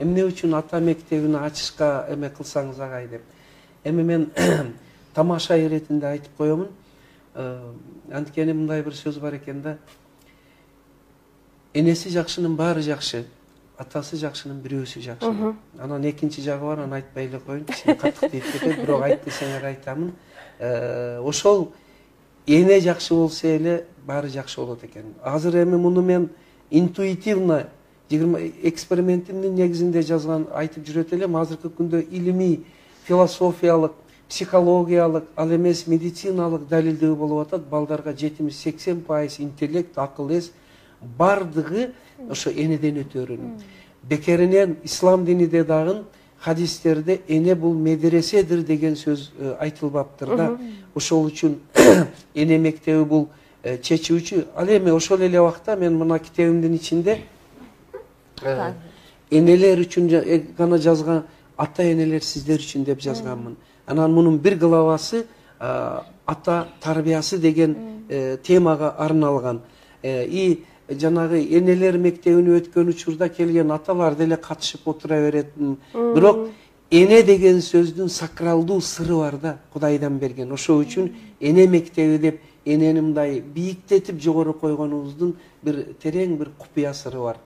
эмне үчүн ата мектебин ачышка эме кылсаңыз агай деп. Эми мен тамаша иретинде айтып коемун. Анткени мындай бир сөз бар экен да. Энеси жакшынын баары жакшы, атасы жакшынын бирөөсү жакшы. Анан экинчи жагы бар, аны айтпай эле коеюн, кичине каттык тийип кетет, бирок айт десеңер айтамын. Ошол эне жакшы болсо эле баары жакшы болот экен. Азыр эми муну мен интуитивно 20 экспериментимдин негизинде жазган айтып жүрөт элем. Азыркы күндө илимий, философиялык, психологиялык, ал эмес медициналык далилдөө болуп атат. Балдарга 70-80% интеллект, акыл эс бардыгы ошо энеден өтөрүнүп. Бекеринен ислам диниде дагы хадистерде эне бул медреседир деген сөз айтылбаптыр да. Ошол үчүн эне мектеби бул чечүүчү. Ал эми ошол эле убакта мен мына китебимдин ичинде энелер үчүн гана жазган, ата энелер сиздер үчүн деп жазганмын. Анан мунун бир главасы ата тарбиясы деген темага арналган. И жанагы энелер мектебине өткөн учурда келген аталар деле катышып отура берет. Бирок эне деген сөздүн сакралдуу сыры бар да, Кудайдан берген. Ошол үчүн эне мектеби деп энени мындай бийиктетип жогору койгонубуздун бир терең бир купуя сыры бар.